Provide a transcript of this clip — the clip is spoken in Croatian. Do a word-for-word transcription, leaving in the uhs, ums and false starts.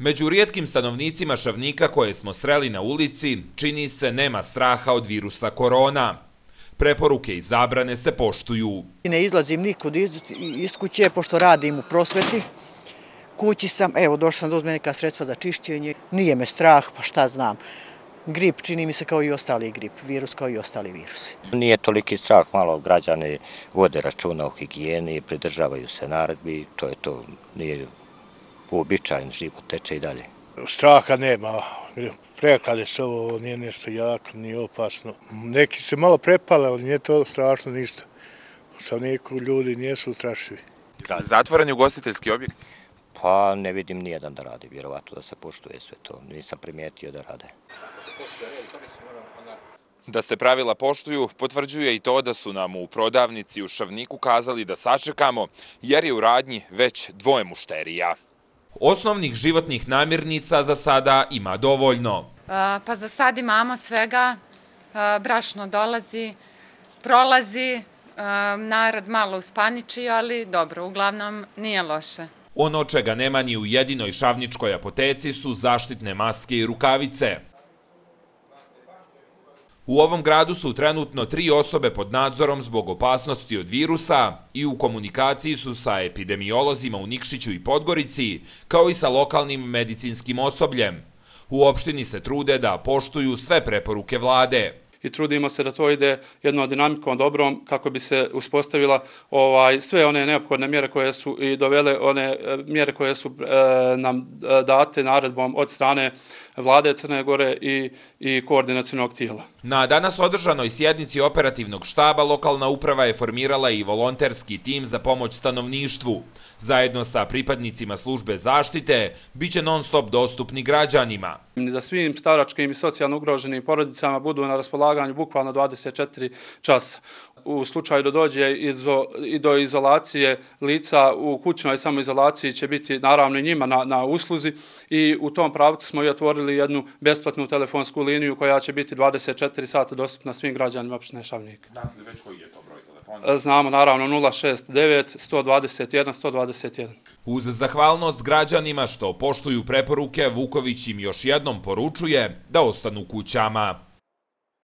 Među rijetkim stanovnicima Šavnika koje smo sreli na ulici, čini se nema straha od virusa korona. Preporuke i zabrane se poštuju. Ne izlazim nikud iz kuće, pošto radim u prosveti. Kući sam, evo, došla sam da uzmem neka sredstva za čišćenje. Nije me strah, pa šta znam. Grip čini mi se kao i ostali grip, virus kao i ostali virusi. Nije toliki strah, malo građani vode računa o higijeni, pridržavaju se naredbi, to je to, nije uobičajen, život teče i dalje. Straha nema, preklade se ovo, nije nešto jako, nije opasno. Neki se malo prepale, ali nije to strašno ništa. Sa neku ljudi nijesu strašivi. Zatvoreni ugostiteljski objekti? Pa ne vidim nijedan da radi, vjerovatno da se poštuje sve to, nisam primijetio da rade. Da se pravila poštuju, potvrđuje i to da su nam u prodavnici u Šavniku kazali da sačekamo, jer je u radnji već dvoje mušterija. Osnovnih životnih namirnica za sada ima dovoljno. Pa za sad imamo svega, brašno dolazi, prolazi, narod malo uspaničio, ali dobro, uglavnom nije loše. Ono čega nema ni u jedinoj šavničkoj apoteci su zaštitne maske i rukavice. U ovom gradu su trenutno tri osobe pod nadzorom zbog opasnosti od virusa i u komunikaciji su sa epidemiolozima u Nikšiću i Podgorici, kao i sa lokalnim medicinskim osobljem. U opštini se trude da poštuju sve preporuke vlade. I trudimo se da to ide jednom dinamikom dobrom kako bi se uspostavila sve one neophodne mjere koje su i dovele one mjere koje su nam date naredbom od strane vlade Crne Gore i koordinacionog tijela. Na danas održanoj sjednici operativnog štaba lokalna uprava je formirala i volonterski tim za pomoć stanovništvu. Zajedno sa pripadnicima službe zaštite biće non stop dostupni građanima. Da svim staračkim i socijalno ugroženim porodicama budu na raspolaganju bukvalno dvadeset četiri časa. U slučaju da dođe i do izolacije lica u kućnoj samoizolaciji će biti naravno i njima na usluzi i u tom pravcu smo i otvorili jednu besplatnu telefonsku liniju koja će biti dvadeset četiri sata dostupna svim građanima opštine Šavnik. Znate li već koji je to broj telefona? Znamo naravno nula šest devet sto dvadeset jedan sto dvadeset jedan. Uz zahvalnost građanima što poštuju preporuke, Vuković im još jednom poručuje da ostanu kućama.